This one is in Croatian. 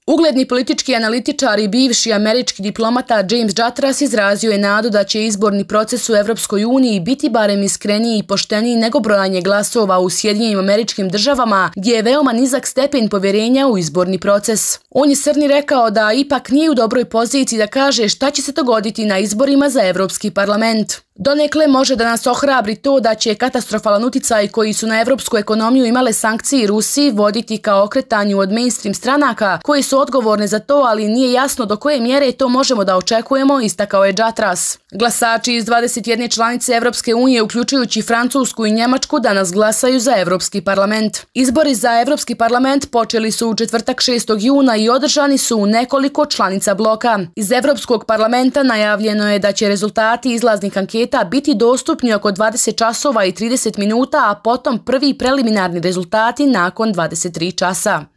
Ugledni politički analitičar i bivši američki diplomata James Jatras izrazio je nadu da će izborni proces u Evropskoj uniji biti barem iskreniji i pošteniji nego brojanje glasova u Sjedinjenim Američkim Državama, gdje je veoma nizak stepen povjerenja u izborni proces. On je Srni rekao da ipak nije u dobroj poziciji da kaže šta će se dogoditi na izborima za Evropski parlament. Donekle može da nas ohrabri to da će katastrofalan uticaj koji su na evropsku ekonomiju imale sankcije i Rusiji voditi ka okretanju od mainstream stranaka koji su odgovorne za to, ali nije jasno do koje mjere to možemo da očekujemo, istakao je Jatras. Glasači iz 21 članice Evropske unije, uključujući Francusku i Njemačku, danas glasaju za Evropski parlament. Izbori za Evropski parlament počeli su u četvrtak 6. juna i održani su u nekoliko članica bloka. Iz Evropskog parlamenta najavljeno je da će rezultati izlaznih anketa biti dostupni oko 20 časova i 30 minuta, a potom prvi preliminarni rezultati nakon 23 časa.